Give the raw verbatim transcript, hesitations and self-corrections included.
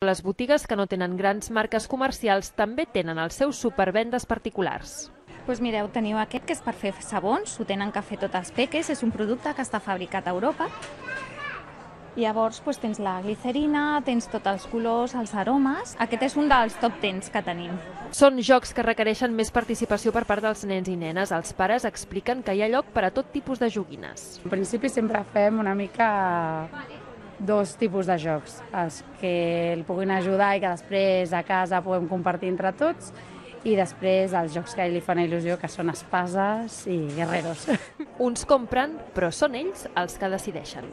Les botigues que no tenen grans marques comercials també tenen els seus supervendes particulars. Doncs mireu, teniu aquest que és per fer sabons, ho tenen que fer tot els peques, és un producte que està fabricat a Europa. Llavors doncs, tens la glicerina, tens tots els colors, els aromes. Aquest és un dels top dez que tenim. Són jocs que requereixen més participació per part dels nens i nenes. Els pares expliquen que hi ha lloc per a tot tipus de joguines. En principi sempre fem una mica dos tipus de jocs, els que el puguin ajudar i que després a casa puguem compartir entre tots, i després els jocs que li fan il·lusió, que són espases i guerreros. Uns compren, però són ells els que decideixen.